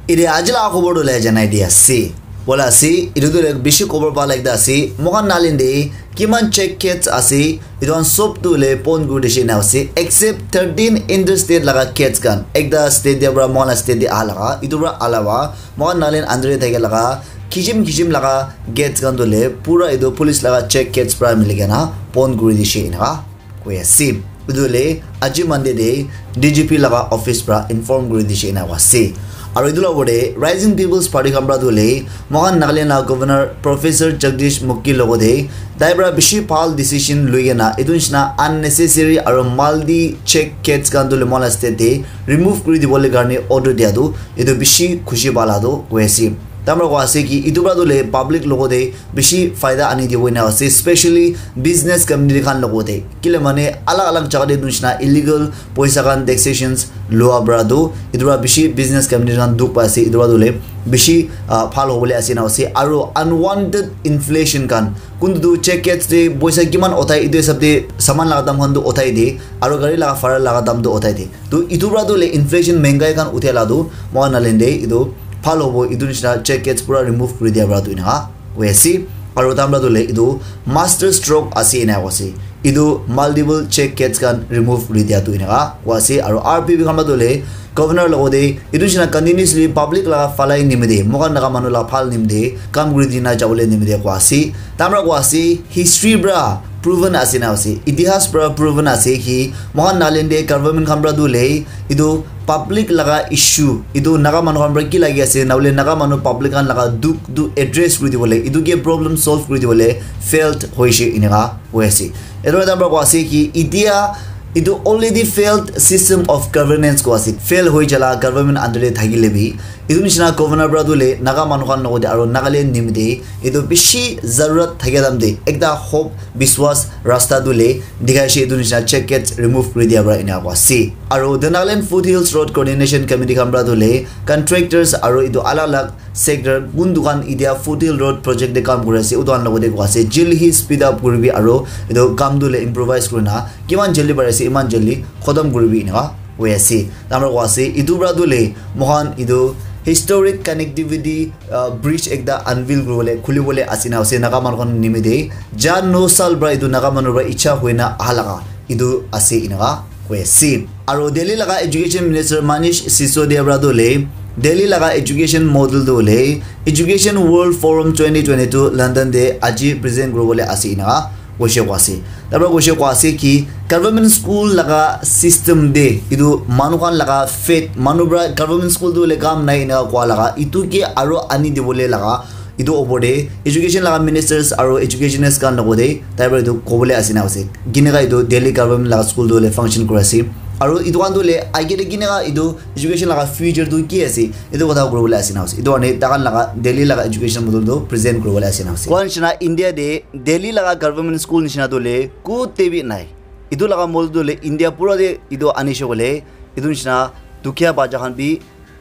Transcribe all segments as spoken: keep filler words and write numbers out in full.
Ite aji laga khobor tu le janai di ase. Bola ase, itu tu le bishi khobor bhal ekta ase. Moikhan Nagaland te kiman check gates ase, itu khan sob tu le bon kuri dishe ena ase. Except thirteen interstate laga gates khan. Ekta state te para moikhan la state te aha laga, itu para alawa, moikhan Nagaland under te thake laga, kisim kisim laga gates khan tu le pura itu police laga check gates para mili kena bon kuri dishe ena koi ase. Etu hoile aji Monday te D G P laga office para inform kuri dishe ena koi ase. Aru etu la opor te Rising People's Party khan para tu hoile moikhan Nagaland laga Governor Professor Jagdish Mukhi logote tai para bishi bhal decision loi kena etu nishina unnecessary aru multi check gates khan tu hoile moikhan la state te remove kuri dibole karne order dia tu etu bishi khushi pala tu koi ase. Tai para koi ase ki etu para tu hoile public logote bishi faida ani dibo ena ase, especially business community khan logote. Kile mane alag alag jaga te etu nishina illegal poisa khan taxations loa para tu etu para bishi business community khan dukh pai ase, etu para tu hoile bishi ah, bhal hobole ase ena ase. Aru unwanted inflation khan kuntu tu check gates te poisa kiman uthai etu hisab te saman laga dam khan tu uthai de aru gari laga fare laga dam tu uthai de. Tu etu para tu hoile inflation mengai khan uthia la tu moikhan Nagaland te etu bhal hobo etu nishina check gates pura remove kuri dia para tu ena koi ase. Aru tai para tu hoile etu master stroke ase ena koi ase. Etu multiple check gates khan remove kuri dia tu ena koi ase. Aru R P P khan para tu hoile governor logote etu nishina continuously public laga falai nimite moikhan laga manu laga bhal nimite kam kuri dina jabole nimite koi ase. Tai para koi ase history para proven ase ena ase, itihas para proven ase ki moikhan Nagaland te government khan para tu hoile etu public laga issue etu Naga manu khan para ki lagi ase na hoile Naga manu public khan laga dukh tu address kuri dibole etu ke problem solve kuri dibole failed hoise ena koi ase. Etu tai para koi ase ki itia etu already failed system of governance koi ase, fail hoi jala government under te thakile bi etu nishina governor para tu hoile Naga manu khan logote aru Nagaland nimite etu bishi zarurat thakia time te ekta hope biswas rasta tu hoile dikhai ase etu nishina check gates remove kuri dia para ena koi ase. Aru the Nagaland Foothills Road Coordination Committee khan para tu hoile contractors aru etu alag alag sector kun dukan itia Foothills Road project te kam kuri ase utu khan logote koi ase jaldi hi speed up kuribi aru etu kam tu hoile improvise kurina kiman jaldi pari ase iman jaldi khotom kuribi ena koi ase. Tai para koi ase etu para tu hoile moikhan etu historic connectivity ah, bridge ekta unveil kuribole khulibole ase ena ase Naga manu khan nimite ja no sal para etu Naga manu para icha hoina aha laga etu ase ena koi ase. Aru Delhi laga education minister Manish Sisodia para tu hoile Delhi laga education model tu hoile Education World Forum twenty twenty-two London te aji present kuribole ase ena koise koi ase. Tai para koise koi ase ki government school laga system te etu manu khan laga faith manu para government school tu hoile kam nai ena koi laga etu ke aru ani dibole laga etu opor te education laga ministers aru educationist khan logote tai para etu kobole ase ena ase. Kineka etu Delhi government laga school tu hoile function kuri ase aru etu khan tu hoile age te kineka etu education laga future tu ki ase etu kotha kuribole ase ena ase. Etu karne tai khan laga Delhi laga education model tu present kuribole ase ena ase. Koi nishina India te Delhi laga government school nishina tu hoile kote bi nai. Etu laga model tu hoile India pura te etu anishe koile etu nishina dukhiya bacha khan bi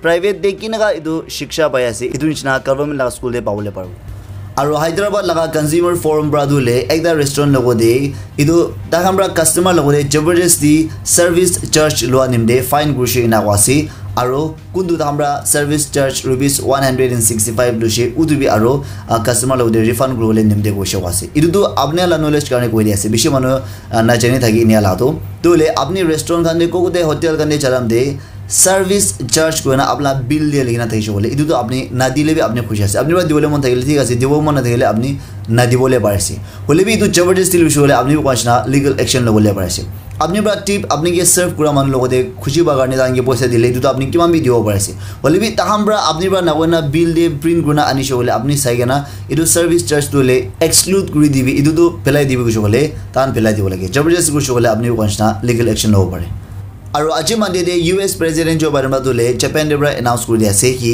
private te kineka etu shiksha pai ase etu nishina government laga school te pabole paribo. Aru Hyderabad laga consumer forum para tu hoile ekta restaurant logote etu tai khan para customer logote jabardasti service charge lua nimite fine kurishe ena koi ase. Aru kuntu tai khan para service charge rupees one hundred and sixty five loishe utu bi aru ah, customer logote refund kuribole nimite koise koi ase. Etu tu apni la knowledge karne koi di ase bishi manu ah, najani thaki enia la tu. Tu hoile apni restaurant khan te kokote hotel khan te jalam te service charge koina apna bill te likhi na thakishe koile etu tu apni nadile bi apni khushi ase. Apni para dibole mon thakile thik ase, dibo mon nathakile apni nadibole pari ase. Hoile bi etu jabardasti loishe koile apni bi koina legal action lobole pari ase. Apni para tip apni ke serve kura manu logote khushi pa karne tai khan ke poisa dile etu tu apni kiman bi dibo pari ase. Hoile bi tai khan para apni para nakoina bill te print kurina anishe koile apni sai kena etu service charge tu hoile exclude kuri dibi etu tu pelai dibi koishe koile tai khan pelai dibo lage. Jabardasti koishe koile apni bi koina legal action lobo pare. Aru aji Monday te U S President Joe Biden para tu hoile Japan te para announce kuri dia ase ki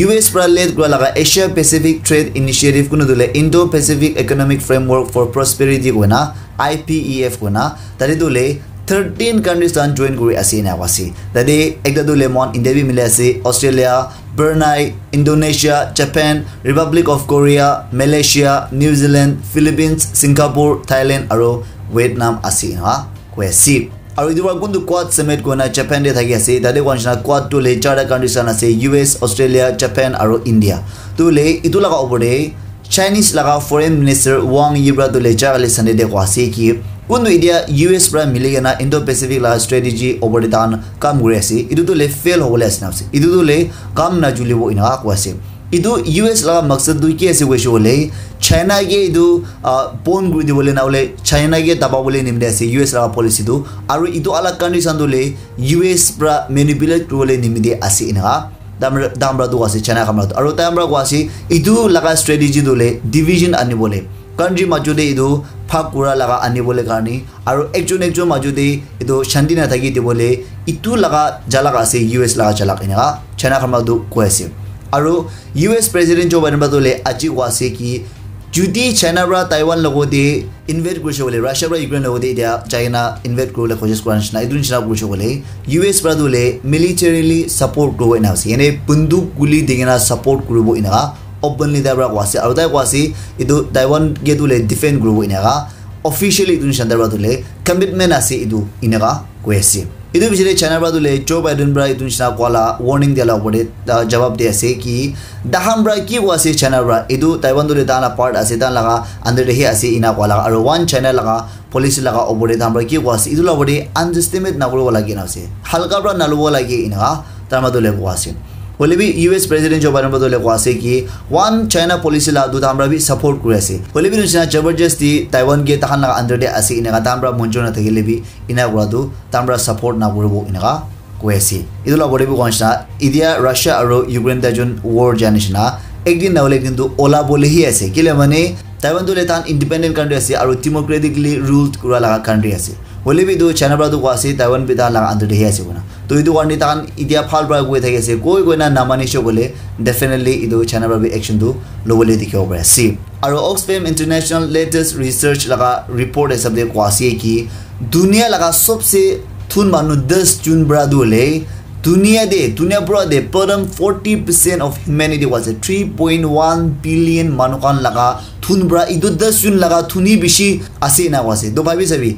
U S para lead kura laga Asia Pacific Trade Initiative kunu tu hoile Indo-Pacific Economic Framework for Prosperity koina I P E F koina tate tu hoile thirteen countries khan join kuri ase ena koi ase. Tate ekta tu hoile moikhan India bi mili ase, Australia, Brunei, Indonesia, Japan, Republic of Korea, Malaysia, New Zealand, Philippines, Singapore, Thailand aru Vietnam ase ena koi ase. Aru etu para kuntu Quad Summit koina Japan te thaki ase. Tate koa nishina Quad tu le charta countries khan ase, U S, Australia, Japan aru India. Tu le etu laga opor te Chinese laga Foreign Minister Wang Yi para tu le jaga le Sunday te koa ase ki kuntu itia U S para mili kena Indo-Pacific laga strategy opor te tahan kam kuri ase. Etu tu le fail hobole ase na ase. Etu tu le kam na julibo ina koa ase. Etu U S laga maksad tu ki ase koishe koile, China ke etu, ah, pon kuri dibole na hole China ke daba bole nimite ase U S laga policy tu. Aru etu alak countries khan tu le U S pra manipulate kuribole nimite ase enaka. Dam, dam pra tu ase China khan pra tu. Aru tai khan pra koa ase, etu laga strategy tu le division anibole. Country majo te etu bhag kura laga anibole karne. Aru ekjon ekjon majo te etu shanti na thaki dibole. Etu laga jalak ase U S laga jalak enaka. China khan pra tu koi ase. Aru U S President Joe Biden pra tu le aji koa ase ki, jodi China pra Taiwan logo te invade kurishe koile, Russia pra Ukraine logo te etia China invade kuribole kosis kura nishina, etu nishina kurishe koile, U S pra tu le militarily support kuribo ena ase. Yane bunduk guli di kena support kuribo enaka openly tai pra koa ase. Aru tai koa ase, etu Taiwan ke tu le defend kuribo enaka. Officially etu nishina tai pra tu le commitment ase etu enaka koi ase. Etu pichete China pra tu le Joe Biden pra etu nishina koa la warning dia la opor te, ah, jawab di ase ki, tahan pra ki koa ase China pra, etu Taiwan tu le tahan la part ase, tahan laga under te hi ase ena koa laga, aru one China laga policy laga opor te tahan pra ki koa ase, etu la opor te underestimate na kuribo lage na ase, halka pra na lobo lage enaka tai pra tu le koa ase. Hoile bi U S President Joe Biden pra tu le koa ase ki one China policy la tu tahan pra bi support kuri ase. Hoile bi nishina jabardasti Taiwan ke tahan laga under te ase enaka tahan pra monjor na thakile bi ena kura tu tahan pra support na kuribo enaka koi ase. Etu la opor te bi koa nishina, etia Russia aru Ukraine tai jun war ja nishina, ekdin na hole ekdin tu ola bole hi ase. Kile mane, Taiwan tu le tahan independent country ase aru democratically ruled kura laga country ase. Hoile bi tu China pra tu koa ase, Taiwan bi tahan laga under te hi ase koina. To etu karne tahan etia bhal pra koi thaki ase. Koi koina na manishe koile, definitely etu China pra bi action tu lobole dikhibo pari ase. Aru Oxfam International latest research laga report hisab te koa ase ki, dunia laga sobse thun manu das jun pra tu le, dunia te, dunia pura te, bottom forty percent of humanity was a three point one billion manu khan laga thun pra, etu das jun laga thun hi bishi ase na koa ase. To bhabi sabi,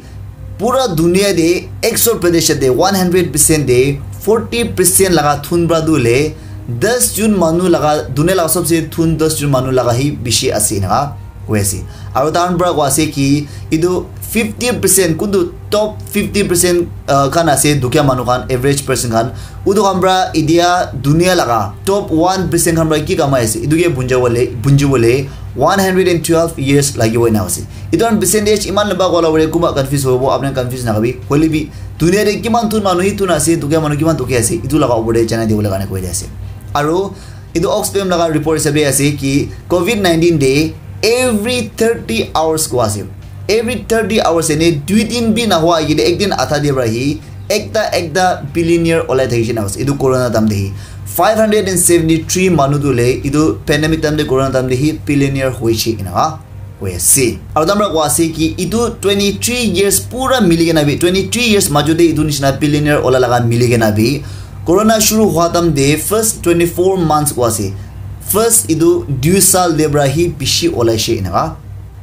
pura dunia te, ekso percent te, one hundred percent te, forty percent laga thun pra tu le, das jun manu laga, dunia laga sobse thun das jun manu laga hi bishi ase enaka koi ase. Aru tahan pra koa ase ki, etu fifty percent, kuntu top fifty percent, ah, khan ase, dukhia manu khan, average person khan, utu khan pra etia dunia laga top one percent khan pra ki kamai ase, etu ke bunja bole, bunji bole one hundred and twelve years lagibo ena ase. Etu khan percentage iman lamba koa la bole kunba confuse hobo, apni confuse na hobi. Hoile bi dunia te kiman thun manu hi thun ase, dukhia manu kiman dukhia ase, etu laga opor te janai dibole karne koi di ase. Aru etu Oxfam laga report hisab te ase ki covid nineteen te every thirty hours koa ase. Every thirty hours ene dui din bi na hoa ki de ek din atha de pra hi ekta ekta billionaire olai thakishe na ase. Etu corona time te hi five hundred and seventy three manu tu le etu pandemic time te corona time te hi billionaire hoishe enaka koi ase. Aru tai pra koa ase ki etu twenty three years pura mili kena bi, twenty three years majo te etu nishina billionaire ola laga mili kena bi, corona shuru hua time te first twenty four months koa ase, first etu dui saal te pra hi bishi olaishe enaka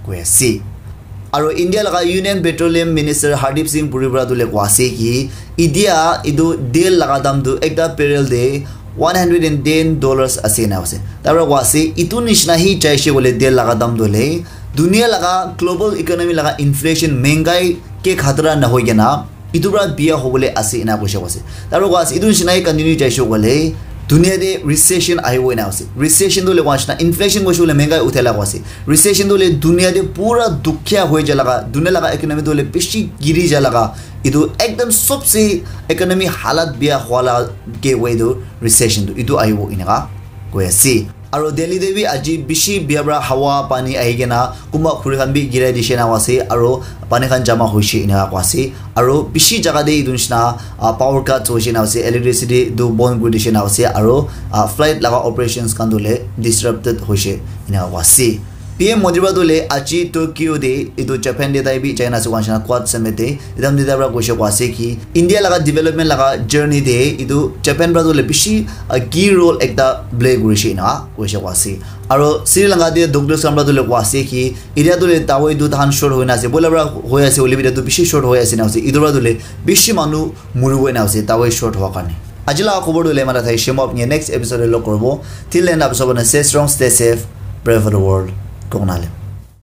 koi ase. Aru India laga Union Petroleum Minister Hardeep Singh Puri pra tu le koa ase ki etia etu tel laga dam tu ekta barrel te one hundred and ten dollars ase na ase. Tai pra koa ase, etu nishina hi jaishe koile tel laga dam tu le dunia laga global economy laga inflation, mengai ke khatra na hoi kena etu pra biya hobole ase ena koishe koa ase. Tai pra koa ase, etu nishina hi continue jaishe koile dunia te recession ahibo ena ase. Recession tu le koa nishina inflation koishe koile mengai uthai la koa ase. Recession tu le dunia te pura dukhia hoi ja laga, dunia laga economy tu le bishi giri ja laga, etu ekdam sobse economy halat biya hua la ke hoi tu recession tu etu ahibo enaka koi ase. Aru Delhi te bi aji bishi biya pra hawa pani ahi kena kunba khuri khan bi girai dishe na ase, aru pani khan jama hoishe enaka koa ase. Aru bishi jaga te etu nishina, ah, power cut hoishe na ase, electricity tu bon kuri dishe na ase, aru, ah, flight laga operations khan tu le disrupted hoishe enaka koa ase. P M Modi para tu le aji Tokyo te etu Japan te tai bi China se wanshina Quad Summit te etam dita para koise koa ase ki India laga development laga journey te etu Japan para tu le bishi uh, key role ekta play kurishe na koise koa ase. Aro Sri Lanka te doctors khan para tu le koa ase ki area tu le dawai tu tahan short hoina ase. Bola para hoi ase hoile bi tu bishi short hoi ase na ase. Etu para tu le bishi manu muribo na ase dawai short hoa karne. Aji laga khobor tu le mara thai shemo apni next episode te log koribo. Till then, apni sob stay strong, stay safe, pray for the world. Koknale.